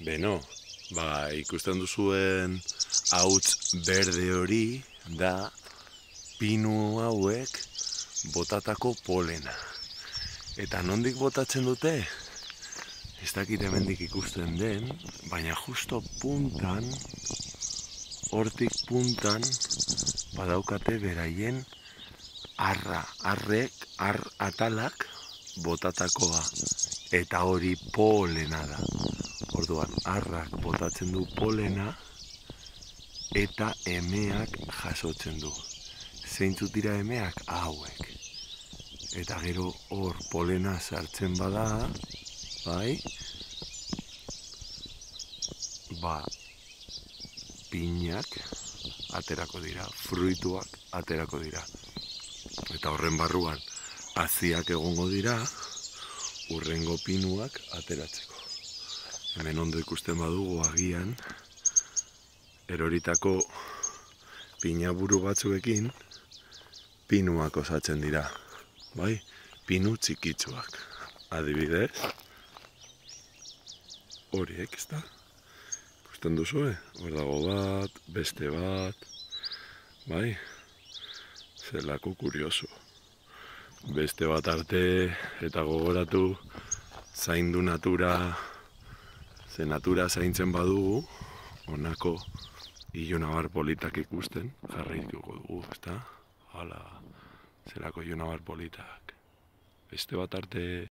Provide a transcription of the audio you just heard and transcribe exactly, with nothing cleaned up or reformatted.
Beno, ba, ikusten duzuen hauts berde hori da pinu hauek botatako polena. Eta nondik botatzen dute? Ez dakit hemendik ikusten den, baina justo puntan, hortik puntan, badaukate beraien arra, arrek, ar atalak botatakoa. Eta hori polena da. Orduan, arrak botatzen du polena eta emeak jasotzen du. Zeintzuk dira emeak? Hauek. Eta gero hor polena sartzen bada, bai, ba, pinak aterako dira, fruituak aterako dira. Eta horren barruan, haziak egongo dira, urrengo pinuak ateratzeko. Hemen ondo ikusten badugu agian, eroritako pinaburu batzuekin, pinuak osatzen dira. Bai, pinu txikitsuak. Adibidez, horiek, ez da? Ikusten duzue, hor dago bat, beste bat, bai, zelako kurioso. Beste bat arte eta gogoratu zaindu natura, ze natura zaintzen badugu, honako ilunabar politak ikusten, jarraituko dugu, ezta? Hala, zelako ilunabar politak. Beste bat arte